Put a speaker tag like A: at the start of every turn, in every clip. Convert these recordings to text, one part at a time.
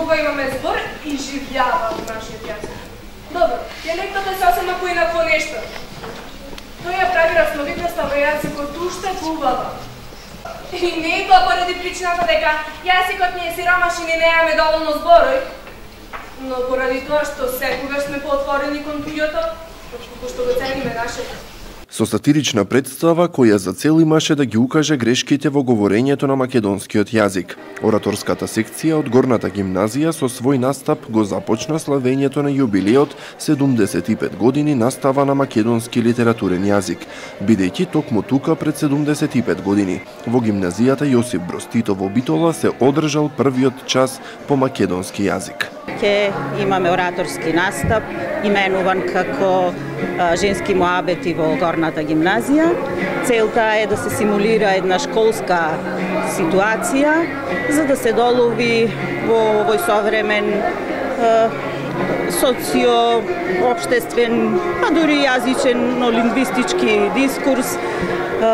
A: кога имаме збор и живljava во нашиот јазик. Добро, диалектот е сосема поинако нешто. Тој ја прави разновидноста во јазикот уште поубава. И не е тоа поради причината дека јазикот ни е сиромашен и немаме доволно зборој, но поради тоа што секогаш сме поотворени кон туѓото, што го цениме нашето.
B: Со сатирична представа која за цел имаше да ги укаже грешките во говорењето на македонскиот јазик. Ораторската секција од Горната гимназија со свој настап го започна славењето на јубилеот 75 години настава на македонски литературен јазик, бидејќи токму тука пред 75 години во гимназијата Јосип Броз Тито во Битола се одржал првиот час по македонски јазик.
C: Ќе имаме ораторски настап, именуван како женски муабети во Горната гимназија. Целта е да се симулира една школска ситуација, за да се долови во овој современ социо-општествен, а дури јазичен, но лингвистички дискурс,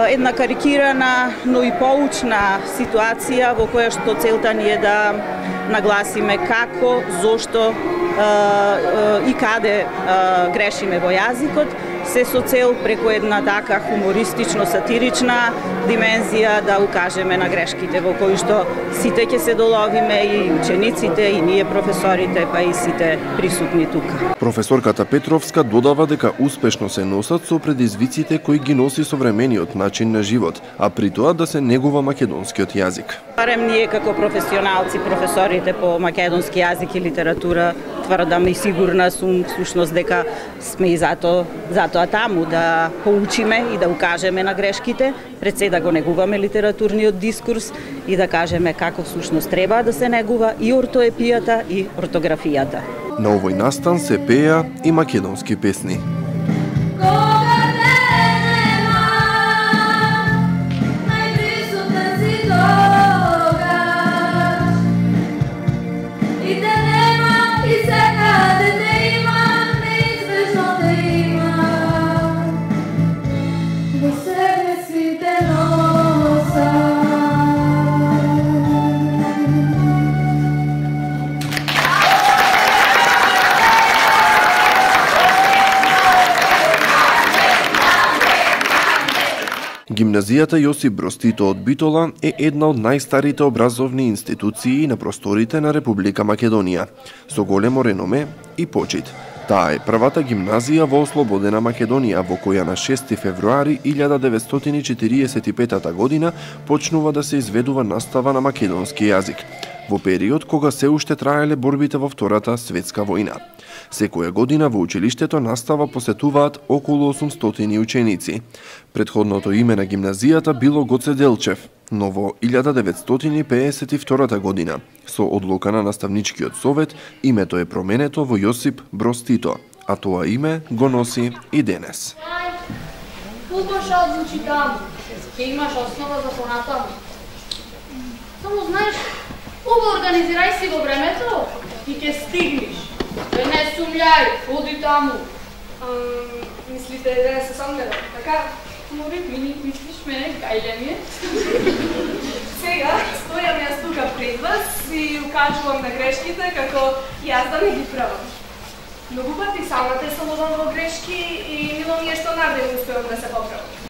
C: една карикирана, но и поучна ситуација во која што целта ни е да нагласиме како, зошто и каде грешиме во јазикот, се со цел преку една така хумористично-сатирична димензија да укажеме на грешките во кои што сите ќе се доловиме, и учениците, и ние професорите, па и сите присутни тука.
B: Професорката Петровска додава дека успешно се носат со предизвиците кои ги носи современиот начин на живот, а при тоа да се негува македонскиот јазик.
C: Барем ние како професионалци, професорите по македонски јазик и литература, тврдам и сигурна сум всушност дека сме и затоа таму да поучиме и да укажеме на грешките, пред се да го негуваме литературниот дискурс и да кажеме како всушност треба да се негува и ортоепијата и ортографијата.
B: На овој настан се пеа и македонски песни. Гимназијата Јосип Броз Тито од Битола е една од најстарите образовни институции на просторите на Република Македонија, со големо реноме и почит. Таа е првата гимназија во ослободена Македонија, во која на 6 февруари 1945 година почнува да се изведува настава на македонски јазик, во период кога се уште траеле борбите во Втората светска војна. Секоја година во училиштето настава посетуваат околу 800 ученици. Предходното име на гимназијата било Гоце Делчев, но во 1952 година, со одлука на наставничкиот совет, името е променето во Јосип Броз Тито, а тоа име го носи и денес.
D: Фудбалша одлучи таму, ќе имаш основа за понатаму. Само знаеш, убаво организирај си во времето и ќе стигнеш. Не сумљај, ходи таму.
A: Мислите да се сомневам, така?
D: Море, мислиш мене, гајле ми е?
A: Сега, стојам јас тука пред вас и укажувам на грешките како јас да не ги правам. Многу пати самата се ловам во грешки и мило ми е што навреме успеам да се поправам.